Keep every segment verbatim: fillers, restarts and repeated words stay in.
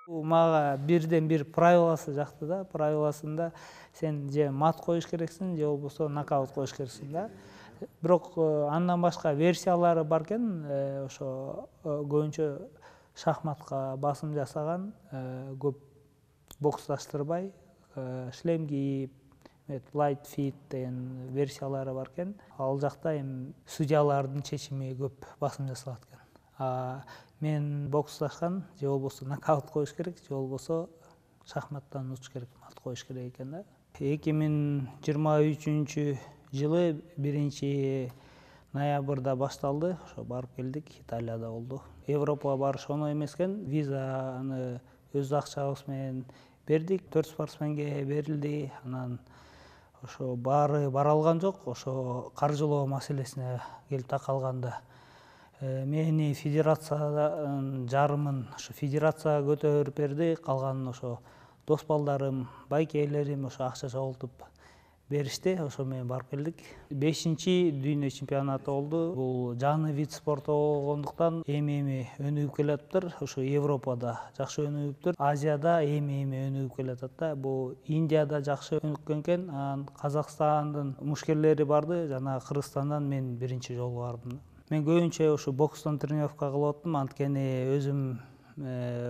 Мага бирден бир правиласы жакты да. Правиласында сен же мат коюш керексиң, же болбосо нокаут коюш керексиң да. Бирок андан башка версиялары бар экен. Ошо көбүнчө шахматка басым жасаган көп боксташтырбай, шлем кийип, light fit деген версиялары бар экен. Ал жакта эми судьялардын чечими көп басым жасалат экен. А мен боксташкан же болбосо нокаут коюш керек, же болбосо шахматтан утуш керек, мат коюш керек экен да. эки миң жыйырма үчүнчү жылы биринчи ноябрда башталды. Ошо барып келдик, Италияда болду. Европага барыш оңой эмес экен. Визаны өз акчабыз менен бердик, төрт спортсменге берилди. Анан ошо баары бара алган жок. Ошо каржылоо маселесине келип такалганда мени федерациянын жарымын ошо федерация көтөрүп берди, калганын ошо дос балдарым, байкелерим ошо акча чогултуп беришти. Ошо менен барып келдик. бешинчи дүйнө чемпионаты болду. Бул жаңы вид спорту болгондуктан эми-эми өнүгүп келатыптыр. Ошо Европада жакшы өнүгүптүр. Азияда эми-эми өнүгүп келатат да. Бул Индияда жакшы өнүккөн экен. Анан Казакстандын мушкерлери барды, жана Кыргызстандан мен биринчи жолу бардым. Мен көбүнчө ошо бокстон тренировка кылып аттым, анткени өзүм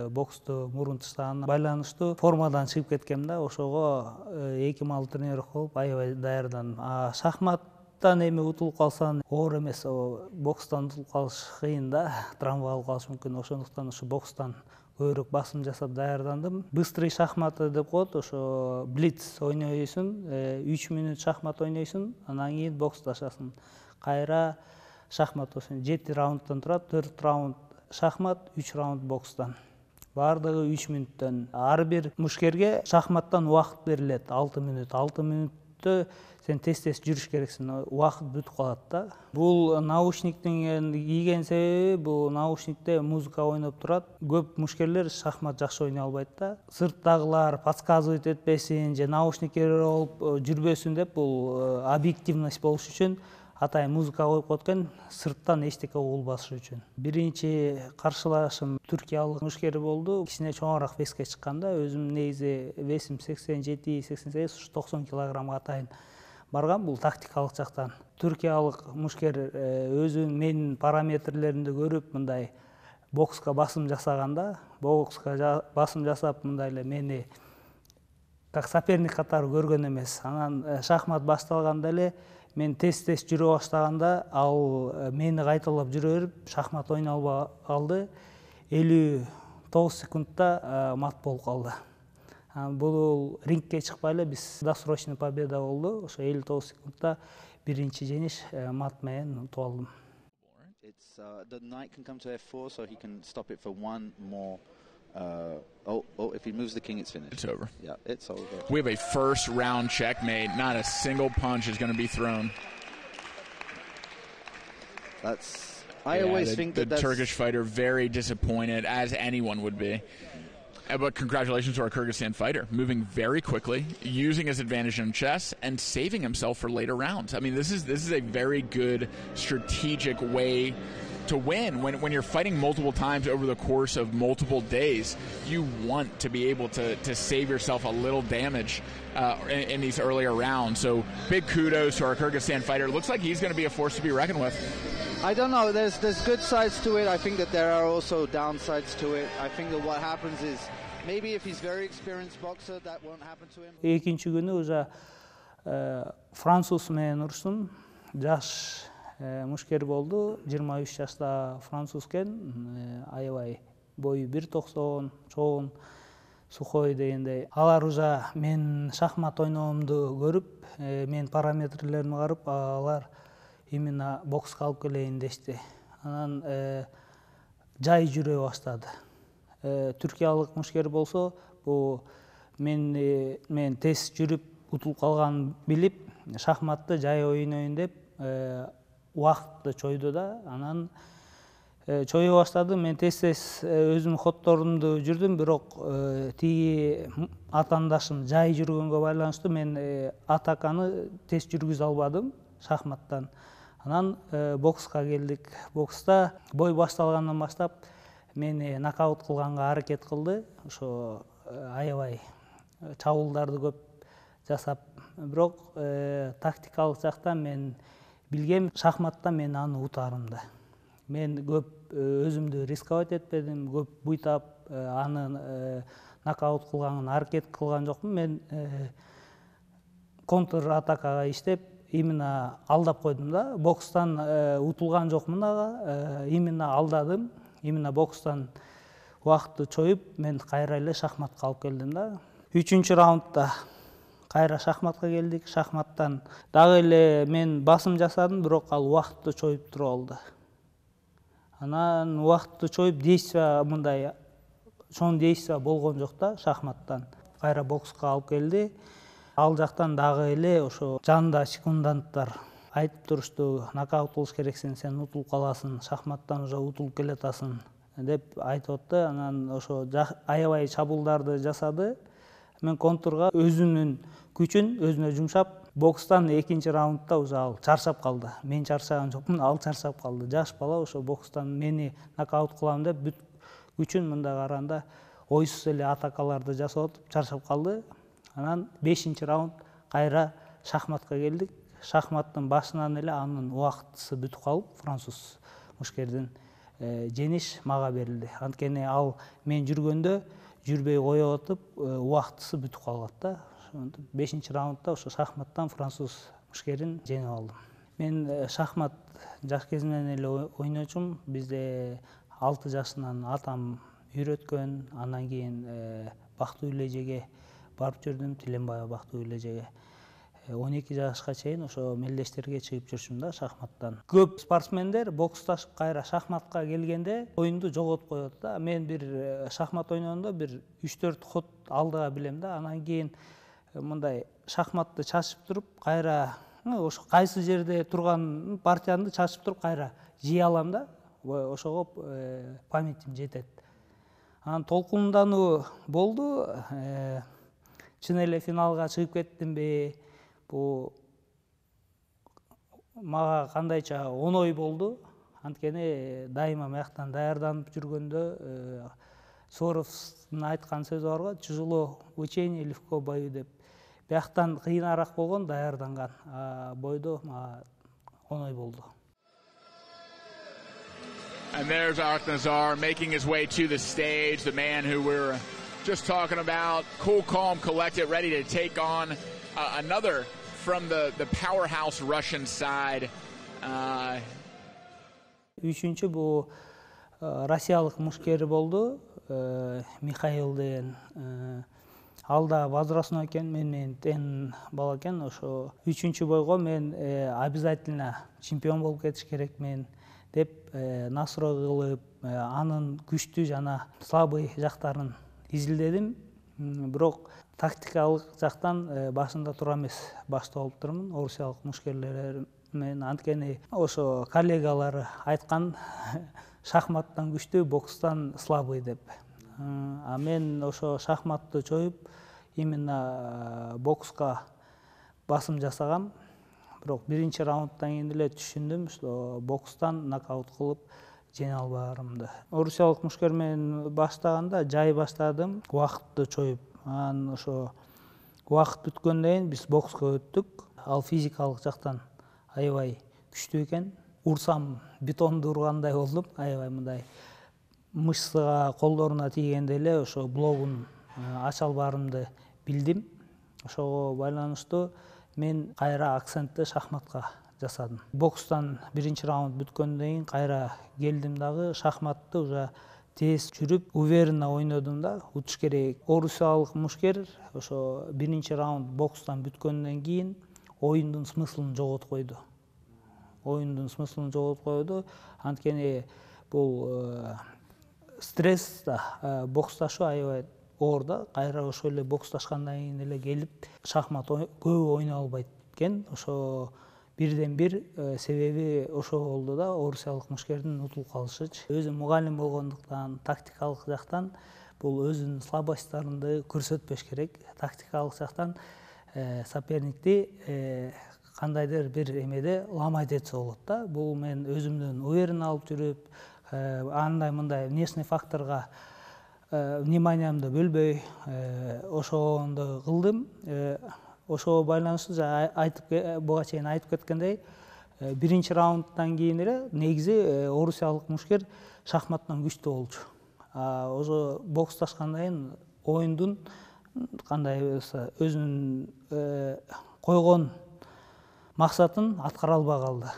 боксту мурун таштаганына байланыштуу формадан чыгып кеткем да. Ошого эки маал тренировка кылып аябай даярдандым. А шахматтан эми утулуп калсаң оор эмес, бокстан утулуп калыш кыйын да, травма алып калыш мүмкүн. Ошондуктан ошо бокстан көбүрөөк басым жасап даярдандым. Быстрый шахматы деп коет, ошо блиц ойнойсуң, үч мүнөт шахмат ойнойсуң, анан кийин боксташасың. Кайра шахмат болсун жети раундтан турат, төрт раунд шахмат, үч раунд бокстан. Бардыгы үч мүнөттөн. Ар бир мушкерге шахматтан убакыт берилет, алты мүнөт. алты мүнөттө сен тез-тез жүрүш керексиң, убакыт бүтүп калат да. Бул наушниктин кийген себеби, бул наушникте музыка ойноп турат. Көп мушкерлер шахмат жакшы ойной албайт да. Сырттагылар подсказывать этпесин же наушникке болуп жүрбөсүн деп, бул объективность болуш үчүн атайын музыка коюп коет экен, сырттан эчтеке угулбашы үчүн. Биринчи каршылашым түркиялык мушкер болду. Кичине чоңураак веске чыкканда, өзүм негизи весим сексен жети сексен сегиз, токсон килограммга атайын барган. Бул тактикалык жактан. Түркиялык мушкер өзүнүн менин параметрлеримди көрүп, мындай бокска басым жасаганда, бокска басым жасап, мындай эле мени как соперник катары көргөн эмес. Анан шахмат башталганда эле мен тез-тез жүрө баштаганда, ал мени кайталап жүрө берип, шахмат ойной албай калды. элүү тогуз секундта мат болуп калды. Бул рингке чыкпай эле биз досрочный победа болду. Ошо элүү тогуз секундта биринчи жеңиш мат менен утуп алдым. The knight can come to F four, so he can stop it for one more. Uh, oh, oh, if he moves the king, it's finished. It's over. Yeah, it's over. We have a first round checkmate. Not a single punch is going to be thrown. That's, I yeah, always the, think the that that's... Turkish fighter very disappointed, as anyone would be. Uh, But congratulations to our Kyrgyzstan fighter, moving very quickly, using his advantage in chess, and saving himself for later rounds. I mean, this is this is a very good strategic way to win. When, when you're fighting multiple times over the course of multiple days, you want to be able to, to save yourself a little damage uh, in, in these earlier rounds. So big kudos to our Kyrgyzstan fighter. It looks like he's going to be a force to be reckoned with. I don't know. There's there's good sides to it. I think that there are also downsides to it. I think that what happens is maybe if he's very experienced boxer, that won't happen to him. Экинчи күнү уже француз менен уруштум. Жаш мушкер болду, жыйырма үч жашта француз экен, аябай бою бир токсон, чоң, сухой дегендей. Алар уже мен шахмат ойноомду көрүп, мен параметрлеримди карап, алар именно бокска алып келейин дешти. Анан жай жүрө баштады. Түркиялык мушкер болсо, бул мен мен тез жүрүп утулуп калганын билип, шахматты жай ойнойн деп убакытты чойду да. Анан чое баштады. Мен тез-тез өзүмдүн ходдорумду жүрдүм, бирок тиги атаандашым жай жүргөнгө байланыштуу мен атаканы тез жүргүзө албадым шахматтан. Анан бокска келдик. Бокста бой башталгандан баштап мени нокаут кылганга аракет кылды. Ошо аябай чабуулдарды көп жасап, бирок тактикалык жактан мен билгем, шахматта мен аны утаарымды. Мен көп өзүмдү рисковать этпедим, көп буйтап аны нокаут кылганга аракет кылган жокмун. Мен контр атакага иштеп, именно алдап койдум да. Бокстан утулган жокмун ага, именно алдадым. Именно бокстан убакытты чоюп, мен кайра эле шахматка алып келдим да. Үчүнчү раундда кайра шахматка келдик. Шахматтан дагы эле мен басым жасадым, бирок ал убакытты чоюп туруп алды. Анан убакытты чоюп, действие мындай чоң действие болгон жок да шахматтан. Кайра бокска алып келди. Ал жактан дагы эле ошо жанында секунданттар айтып турушту, нокаут кылыш керексиң, сен утулуп каласың, шахматтан уже утулуп келатасың деп айтып атты. Анан ошо аябай чабуулдарды жасады. Мен контрга өзүнүн күчүн өзүнө жумшап, бокстан экинчи раундда уже ал чарчап калды. Мен чарчаган жокмун, ал чарчап калды. Жаш бала ошо бокстан мени нокаут кылам деп бүт күчүн мындай караганда ойсуз эле атакаларды жасап атып чарчап калды. Анан бешинчи раунд кайра шахматка келдик. Шахматтын башынан эле анын убактысы бүтүп калып, француз мушкердин жеңиш мага берилди. Анткени ал мен жүргөндө жүрбөй коюп атып, убактысы бүтүп калат да. бешинчи раундда ошо шахматтан француз мушкерин жеңип алдым. Мен шахмат жаш кезимден эле ойночумун. Бизде алты жашынан атам үйрөткөн. Андан кийин Бактуу Үлежеге барып жүрдүм, Тиленбаева Бактуу Үлежеге. он эки жашка чейин ошо мелдештерге чыгып жүрчүм да шахматтан. Көп спортсмендер боксташып кайра шахматка келгенде оюнду жоготуп коет да. Мен бир шахмат ойногондо бир үч төрт ход алдыга билем да. Анан кийин мындай шахматты чачып туруп, кайра ошо кайсы жерде турган партиямды чачып туруп кайра жей алам да. Ошого памятим жетет. Анан толкундануу болду. Чын эле финалга чыгып кеттимби? Бул мага кандайча оңой болду. Анткени дайыма мыяктан даярданып жүргөндө Суворовдун айткан сөзү бар го, тяжело в учении, легко в бою деп. Бияктан кыйыныраак болгон даярданган, а бойдо мага оңой болду. And there's Aknazar making his way to the stage, the man who we're just talking about, cool, calm, collected, ready to take on uh, another from the, the powerhouse Russian side. Uh... Үчүнчү бул Россиялык мушкери болду, Михаил деген. Ал да возрастной экен, мен менен тең бала экен. Ошо үчүнчү бойго мен обязательно чемпион болуп кетиш керекмин деп настрой кылып, анын күчтүү жана слабый жактарын изилдедим. Бирок тактикалык жактан башында тура эмес башта болуп турмун орусиялык мушкерлер менен. Анткени ошо коллегалары айткан шахматтан күчтүү, бокстан слабый деп. А мен ошо шахматты чоюп, именно бокска басым жасагам. Бирок биринчи раундтан кийин эле түшүндүм, что бокстан нокаут кылып жеңе албаарымды. Орусиялык мушкер менен баштаганда жай баштадым, убакытты чоюп. Анан ошо убакыт бүткөндөн кийин биз бокска өттүк. Ал физикалык жактан аябай күчтүү экен. Урсам бетонду ургандай болдум, аябай мындай мышцага, колдоруна тийгенде эле ошо блогун ача албаарымды билдим. Ошого байланыштуу мен кайра акцентти шахматка жасадым. Бокстан биринчи раунд бүткөндөн кийин кайра келдим дагы, шахматты уже тез жүрүп, уверенно ойнодум да, утуш керек. Орусиялык мушкер ошо биринчи раунд бокстан бүткөндөн кийин оюндун смыслын жоготуп койду. Оюндун смыслын жоготуп койду. Анткени бул стресс да, боксташуу аябай оор да. Кайра ошо эле боксташкандан кийин эле келип шахмат көп ойной албайт экен. Ошо бирден бир себеби ошо болду да, орусиялык мушкердин утулуп калышычы. Өзүм мугалим болгондуктан, тактикалык жактан бул өзүнүн слабостьтарынды көрсөтпөш керек. Тактикалык жактан соперникти кандайдыр бир эмеде ламайт этсе болот да. Бул мен өзүмдөн уверен алып жүрүп, андай мындай внешний факторго вниманиямды бөлбөй ошондой кылдым. Ошого байланыштуу айтып буга чейин айтып кеткендей, биринчи раундтан кийин эле негизи орусиялык мушкер шахматтан күчтүү болчу. Ошо боксташкандан кийин оюндун кандай өзүнүн койгон максатын аткара албай калды.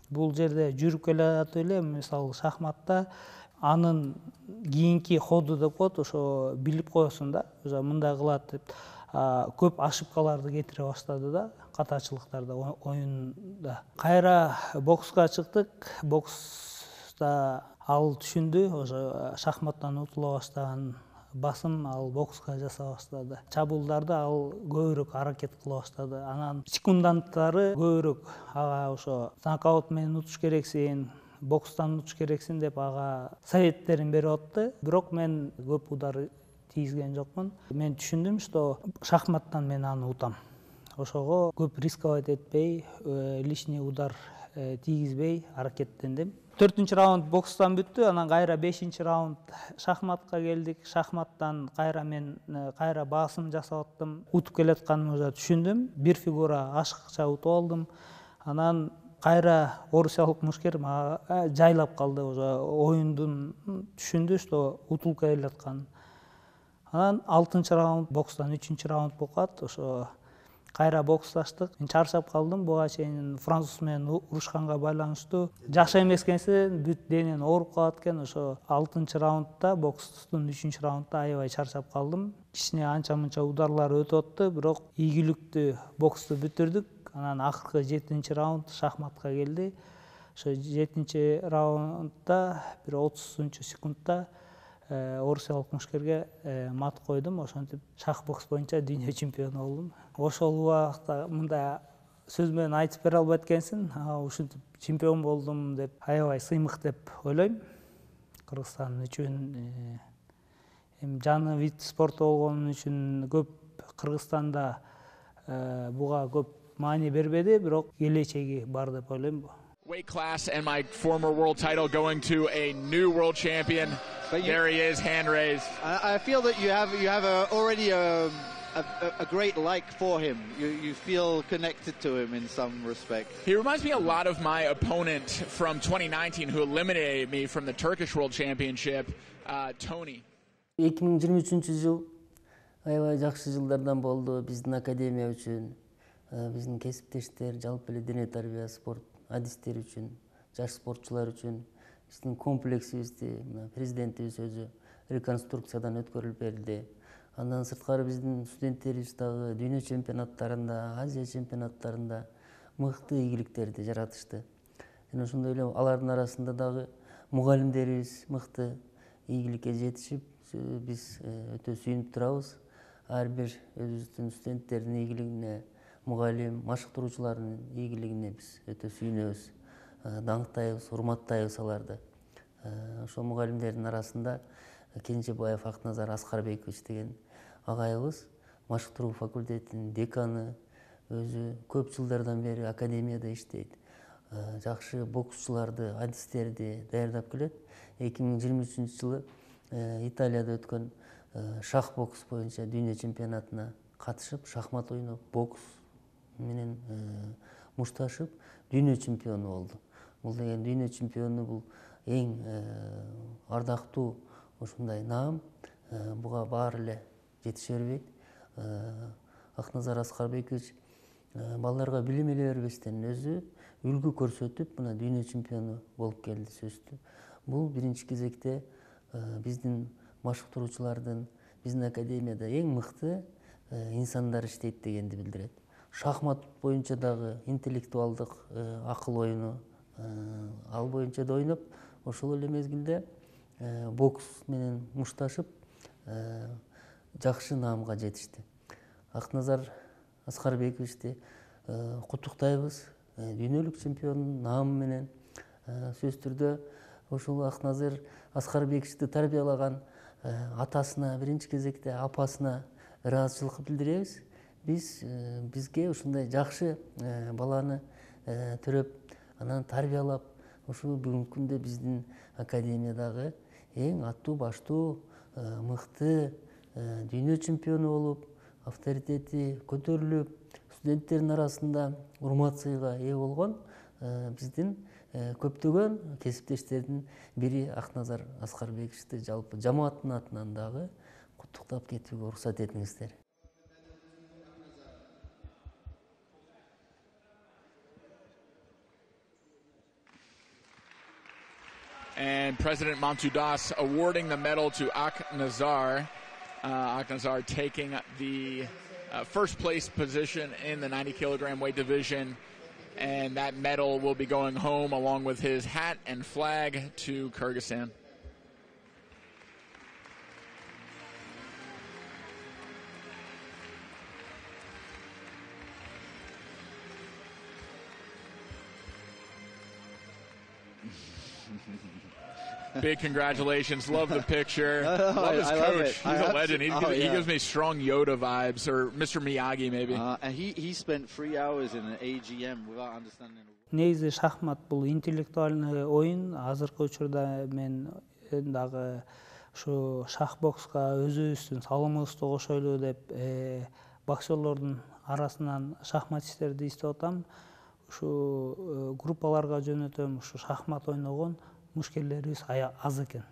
Бул жерде жүрүп келатып эле, мисалы шахматта анын кийинки ходу деп коет, ошо билип коесуң да, уже мындай кылат деп көп ошибкаларды кетире баштады да, катачылыктарда оюнда. Кайра бокска чыктык. Бокста ал түшүндү, ошо шахматтан утула баштаган басым ал бокска жаса баштады. Чабуулдарды ал көбүрөөк аракет кыла баштады. Анан секунданттары көбүрөөк ага ошо нокаут менен утуш керексиң, бокстан утуш керексиң деп ага советтерин берип атты. Бирок мен көп удар тийгизген жокмун. Мен түшүндүм, что шахматтан мен аны утам. Ошого көп рисковать этпей, лишний удар тийгизбей аракеттендим. төртүнчү раунд бокстан бүттү, анан кайра бешинчи раунд шахматка келдик. Шахматтан кайра мен кайра басым жасап аттым. Утуп келатканымды түшүндүм. Бир фигура ашыкча утуп алдым. Анан кайра орусиялык мушкер жайлап калды, уже оюндун түшүндү, что утулуп келаткан. Анан алтынчы раунд бокстан үчүнчү раунд болуп калат. Ошо кайра боксташтык. Мен чарчап калдым, буга чейин француз менен урушканга байланыштуу. Жакшы эмес экенсиң, бүт денең ооруп калат экен. Ошо алтынчы раундда, бокстун үчүнчү раундда аябай чарчап калдым. Кичине анча-мынча ударлар өтүп атты, бирок ийгиликтүү боксту бүтүрдүк. Анан акыркы жетинчи раунд шахматка келди. Ошо жетинчи раундда бир отузунчу секундта орусиялык мушкерге мат койдум. Ошентип шах бокс боюнча дүйнө чемпиону болдум. Ошол убакта мындай сөз менен айтып бере албайт экенсиң, ушинтип чемпион болдум деп аябай сыймык деп ойлойм. Кыргызстан үчүн эми жаны вид спорту болгон үчүн көп Кыргызстанда буга көп маани бербеди, бирок келечеги бар деп ойлойм. Weight class and my former world title going to a new world champion. But you, there he is, hand raised. I, I feel that you have you have a, already a, a a great like for him. You you feel connected to him in some respect. He reminds me a lot of my opponent from twenty nineteen who eliminated me from the Turkish World Championship, uh, Tony. эки миң жыйырма үчүнчү жыл аябай жакшы жылдардан болду биздин академия үчүн, биздин кесиптештер, жалпы эле дене тарбия спорт адистер үчүн, жаш спортчулар үчүн. Биздин комплексибизди президентибиз өзү реконструкциядан өткөрүлүп берди. Андан сырткары биздин студенттерибиз дагы дүйнө чемпионаттарында, Азия чемпионаттарында мыкты ийгиликтерди жаратышты. Жана ошондой эле алардын арасында дагы мугалимдерибиз мыкты ийгиликке жетишип, биз өтө сүйүнүп турабыз. Ар бир өзүбүздүн студенттердин ийгилигине, мугалим, машыктыруучулардын ийгилигине биз өтө сүйүнөбүз. Даңктайбыз, урматтайбыз аларды. Ошол мугалимдердин арасында Кенжебаев Акназар Аскарбекович деген агайыбыз машыктыруу факультетинин деканы, өзү көп жылдардан бери академияда иштейт. Жакшы боксчуларды, адистерди даярдап келет. эки миң жыйырма үчүнчү жылы Италияда өткөн шах бокс боюнча дүйнө чемпионатына катышып, шахмат ойноп, бокс менен мушташып, дүйнө чемпиону болду. Бул деген дүйнө чемпиону бул эң ардактуу ушундай наам. Буга баары эле жетише бербейт. Акназар Аскарбекович балдарга билим эле бербестен өзү үлгү көрсөтүп, мына дүйнө чемпиону болуп келди сөзсүз. Бул биринчи кезекте биздин машыктыруучулардын, биздин академияда эң мыкты инсандар иштейт дегенди билдирет. Шахмат боюнча дагы интеллектуалдык акыл оюну ал боюнча да ойноп, ошол эле мезгилде бокс менен мушташып жакшы наамга жетишти. Акназар Аскарбековичти куттуктайбыз дүйнөлүк чемпиондун наамы менен. Сөзсүз түрдө ошол Акназар Аскарбековичти тарбиялаган атасына, биринчи кезекте апасына ыраазычылык билдиребиз. Биз бизге ушундай жакшы баланы төрөп, анан тарбиялап, Ушул бүгүнкү күндө биздин академиядагы эң аттуу баштуу мыкты дүйнө чемпиону болуп, авторитети көтөрүлүп, студенттердин арасында урмат сыйга ээ болгон биздин көптөгөн кесиптештердин бири Акназар Аскарбековичти жалпы жамааттын атынан дагы куттуктап кетүүгө уруксат этиңиздер. And President Mamsoudas awarding the medal to Aknazar. Uh, Aknazar taking the uh, first place position in the ninety kilogram weight division. And that medal will be going home along with his hat and flag to Kyrgyzstan. Big congratulations. Love the picture. No, no, love his I, I coach. love it. He's I a legend. He, oh, gives, he yeah. gives me strong Yoda vibes, or Mister Miyagi maybe. Uh, and he, he spent three hours in an A G M without understanding. Негизи шахмат бул интеллектуальный оюн. Азыркы учурда мен дагы ушу шах бокска өзүбүздүн салымыбызды кошойлу деп боксерлордун арасынан шахматисттерди издеп атам. Ушу группаларга жөнөтөм. Ушу шахмат ойногон мушкерлерибиз аз экен.